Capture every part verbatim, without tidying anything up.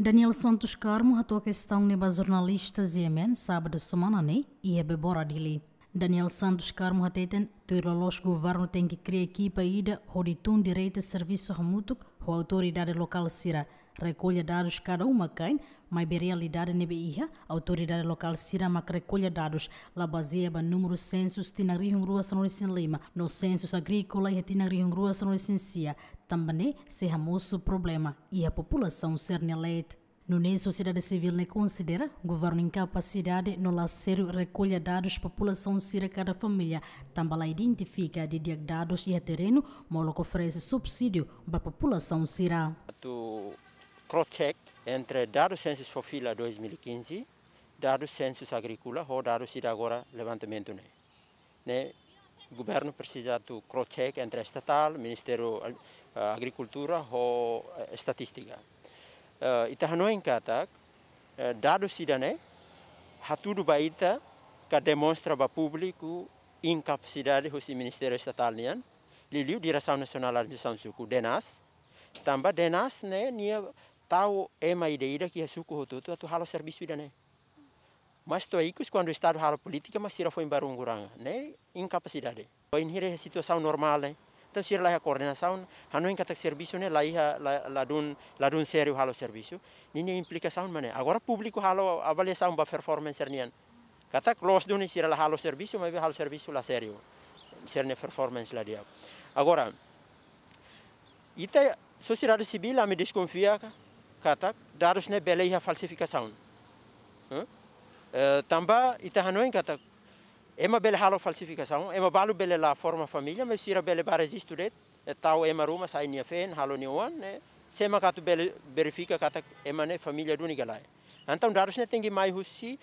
Daniel Santos Carmo hato'o kestaun ne'e ba jornalista G M N sábadu semana ne'e iha Bebora, Dili. Daniel Santos Carmo hateten, tuir loloos governu tenke kria ekipa ida hodi tun direta servisu hamutuk ho autoridade lokál sira, rekolla dadus kada uma-kain, maibé realidade ne'ebé iha, autoridade lokál sira mak rekolla dadus la bazeia ba númeru sensus tinan rihun rua sanulu-resin-lima no sensus agríkola iha tinan rihun rua sanulu-resin-sia, tanba ne'e sei hamosu problema iha populasaun sira-nia leet. Nune'e sosiedade sivíl ne'e konsidera governu inkapasidade no la sériu rekolla dadus populasaun sira kada família, tanba la identifika didi'ak dadus iha terrenu, molok oferese subsídiu ba populasaun sira. Atu cross-check entre dadus sensus fó fila dois mil e quinze, dadus sensus agríkola ho dadus ida agora levantamentu ne'e. Ne'e, governu presiza atu cross-check entre estatál, Ministériu, eh, Agrikultura ho, eh, Estatístika. Eh, ita hanoin katak, eh, dadus ida-ne'e hatudu ba ita ka demonstra ba públiku inkapasidade husi Ministériu Estatál nian, liuliu Diresaun Nasionál Administrasaun Suku, DENAS, tanba DENAS ne'e nia tau ema ida-idak iha suku hotu-hotu atu halo servisu ida-ne'e. Mas to'o ikus kuandu Estadu halo polítika, mas sira foin barungu ranga, ne'e inkapasidade. Bainhira iha situasaun normál ne'e, entaun sira la iha koordenasaun, hanoin katak servisu ne'e la iha, la, ladún, ladún sériu halo servisu. Ninia implikasaun mak ne'e. Agora públiku halo avaliasaun ba performance sira-nian. Katak loos duni sira la halo servisu, maibé halo servisu la sériu. Sira-nia performance la di'ak. Agora, ita sosiedade sivíl, ami deskonfia ka-, katak dadus ne'e bele iha falsifikasaun. Hã? Eh, tanba ita hanoin katak ema bele halo falsifikasaun, ema balu bele la forma família, mas sira bele bá rejistu de'it, eh, tau ema ruma, sai nia feen, halo nia oan, ne'e, sé mak atu bele verifika katak ema ne'e família duni ka lae. Entaun dadus ne'e tenke mai husi,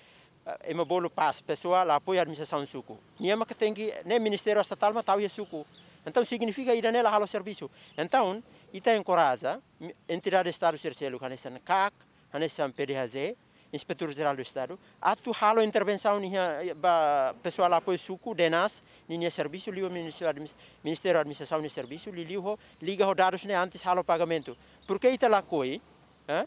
eh, ema bolu PAS, Pesoál Apoiu Administrasaun Suku. Nia mak tenke, ne'e Ministériu Estatál mak tau iha suku. Entaun signifika ida-ne'e la halo servisu. Entaun, ita enkoraja, mi-, entidade Estadu sira seluk, hanesan CAC, hanesan PDHJ, Inspetór Jerál do Estadu, atu halo intervensaun iha ba Pesoál Apoiu Suku, DENAS, ninia servisu, liu Ministériu Admis-, Ministériu Administrasaun nia servisu, liuliu ho, liga ho dadus ne'e antes halo pagamentu. Porke ita lakohi, eh?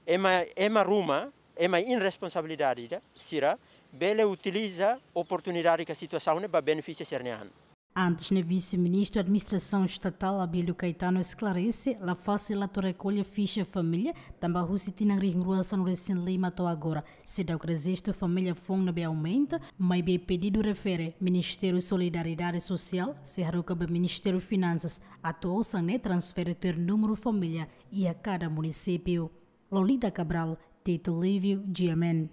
Ema, ema ruma, ema irresponsabilidade ida, sira, bele utiliza oportunidade ka situasaun ne'e ba benefísiu sira-nia an. Antes ne'e, Vise-Ministru Administrasaun Estatál Abílio Caetano esklarese, la fasil atu rekolla fixa família, tanba husi tinan rihun rua sanulu-resin-lima to'o agora, seidauk rejistu família foun ne'ebé aumenta, maibé pedidu refere Ministériu Solidariedade Sosiál, sei haruka ba Ministériu Finansas, atu osan ne'e transfere tuir númeru família iha kada munisípiu. Lolita Cabral, Tito Livio, G M N.